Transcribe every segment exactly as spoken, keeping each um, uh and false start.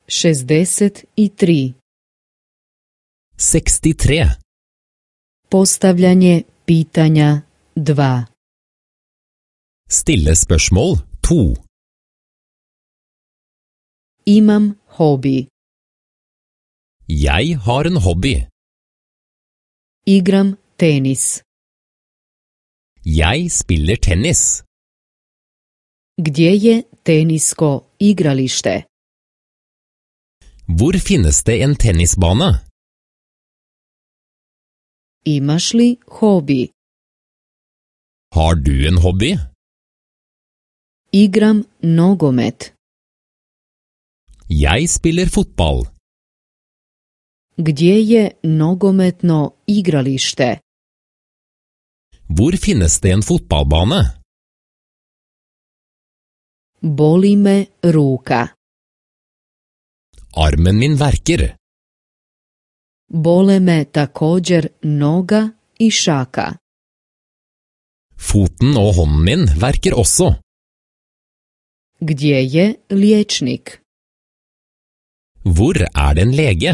šezdeset tri. sekstitre. Postavljanje pitanja dva. Stille spørsmål to. Imam hobi. Jeg har en hobby. Igram tenis. Jeg spiller tennis. Gdje je tenisko igralište? Hvor finnes det en tennisbane? Imaš li hobi? Har du en hobby? Igram nogomet. Jeg spiller fotball. Gdje je nogometno igralište? Hvor finnes det en fotballbane? Boli me ruka. Armen min verker. Bole me također noga i šaka. Foten og hånden min verker også. Gdje je liječnik? Hvor er det en lege?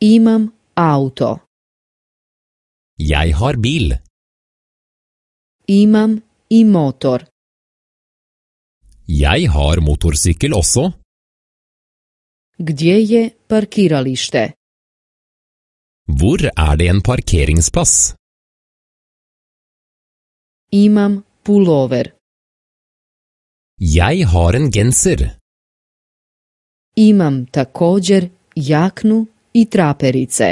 Imam auto. Jeg har bil. Imam i motor. Jeg har motorsykkel også. Gdje je parkiralište? Hvor er det en parkeringsplass? Imam pulover. Jeg har en genser. Imam također jaknu i traperice.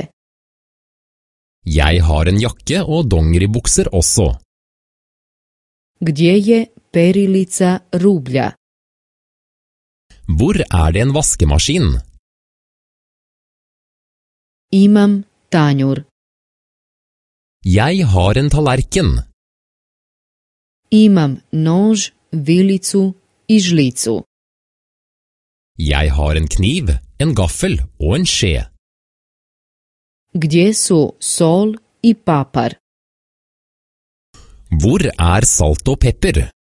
Jeg har en jakke og dongeribukser også. Gdje je perilica rublja? Hvor er det en vaskemaskin? Imam tanjur. Jeg har en tallerken. Imam nož, vilicu i žlicu. Jeg har en kniv, en gaffel og en skje. Gdje su sol i papar? Hvor er salt og pepper?